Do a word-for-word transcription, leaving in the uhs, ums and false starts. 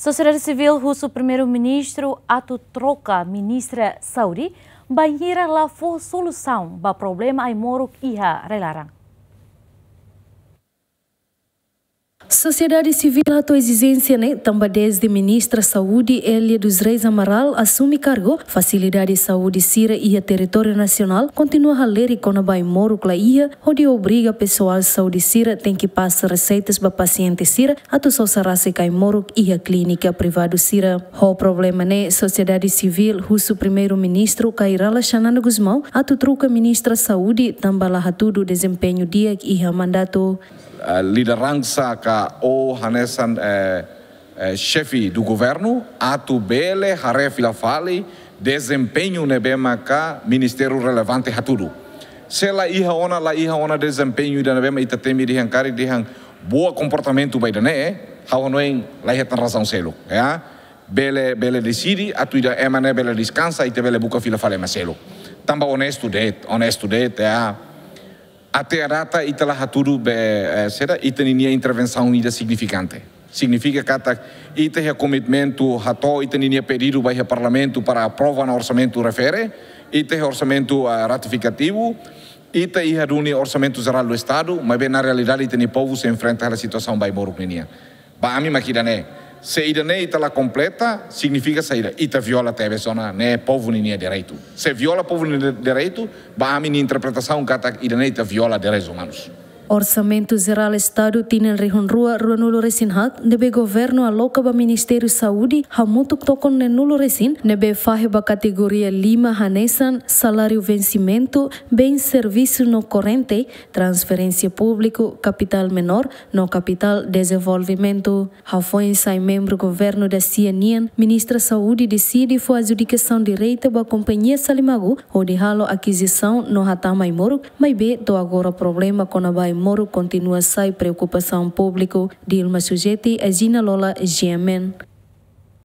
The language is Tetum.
Sosiedade sivíl husu Primeiru-Ministru atu troka Ministra Saúde, bainhira la fó solusaun ba problema ai-moruk iha rai-laran. Sosiedade sivíl hato'o ezijénsia ne'e tanba dezde Ministra Saúde Elia dos Reis Amaral asume kargu, fasilidade saúde sira iha territóriu nasionál kontinua halerik kona-ba ai-moruk la iha, hodi obriga pesoál saúde sira tenke pasa reseitas ba pasiente sira atu sosa rasik ai-moruk iha klínika privadu sira. Ho problema ne'e, sosiedade sivíl husu Primeiru-Ministru Kay Rala Xanana Gusmão atu troka Ministra Saúde tanba la hatudu dezempeñu di'ak iha mandatu. Eh, lideransa ka ou hanesan, eh, eh, xefe do governu atu bele haree fila fali dezempeñu ne'ebé maka ministériu relevante hatudu. Se la iha ona, la iha ona dezempeñu ida ne'ebé mak ita temi dehan karik dehan boa komportamentu ba ida-ne'e, ha'u hanoin la iha tan razaun seluk, ya. Bele, bele deside atu ida ema ne'e bele deskansa, ita bele buka fila fali ema seluk. Tanba onestu de'it, onestu de'it, ya. Até à data ita la hatudu be, eh, saida, ita-ninia intervensaun ida signifikante. Signifika katak ita iha komitmentu hato'o ita-ninia pedidu ba iha Parlamentu para aprova ona orsamentu refere, ita iha orsamentu, eh, ratifikativu, ita iha duni Orsamentu Jerál do Estadu, maibé na realidade ita-nia povu sei enfrenta hela situasaun ba ai-moruk ninian. Ba ami mak ida-ne'e. Se ida-ne'e ita la kompleta, signifika saida? Ita viola tebes ona ne'e povu ninia direitu. Se viola povu ninia direitu, ba ami-nia interpretasaun katak ida-ne'e ita viola direitus umanus. Orsamentu Jerál Estadu tinan rihun rua ruanulu resin haat ne'ebé governu aloka ba Ministériu Saúde hamutuk tokon neenulu resin ne'ebé fahe ba kategoria lima hanesan saláriu vensimentu, bens servisu no korrente, transferénsia públiku, kapitál menór no kapitál dezenvolvimentu. Hafoin sai membru governu dasia nian, Ministra Saúde deside fó adjudikasaun direta ba kompañia Salimagu hodi halo akizisaun no hatama ai-moruk, maibé to'o agora problema kona-ba ai-moruk kontinua sai preokupasaun públiku. Dilma Sujeti, Agina Lola, G M N.